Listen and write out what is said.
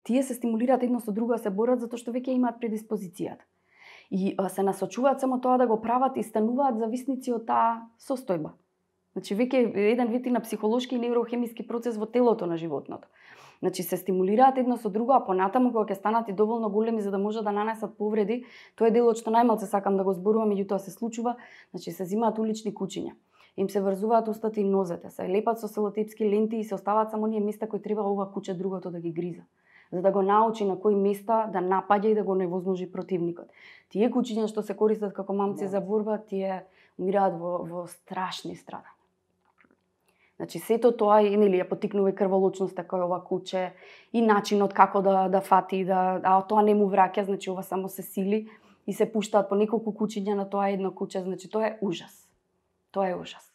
тие се стимулираат едно со друго да се борат затоа што веќе имаат предиспозицијата. И се насочуваат само тоа да го прават и стануваат зависници од таа состојба. Значи веќе еден вид на психолошки и неврохемиски процес во телото на животното. Значи се стимулираат едно со друго, а понатаму кога ќе станат и доволно големи за да може да нанесат повреди, тоа е делот што најмалку сакам да го зборувам, меѓутоа се случува, значи се земаат улични кучиња. Им се врзуваат устата и нозете, се лепат со селотепски ленти и се оставаат само оние места кои треба ова куче другото да ги гриза, за да го научи на кои места да напаѓа и да го невозможи противникот. Тие кучиња што се користат како мамци за борба, тие умираат во страшни страдања. Значи сето тоа нели ја поттикнува и крволочноста кој ова куче и начинот како да фати, а тоа не му враќа, значи ова само се сили и се пуштаат по неколку кучиња на тоа едно куче, значи тоа е ужас. Тоа е ужас.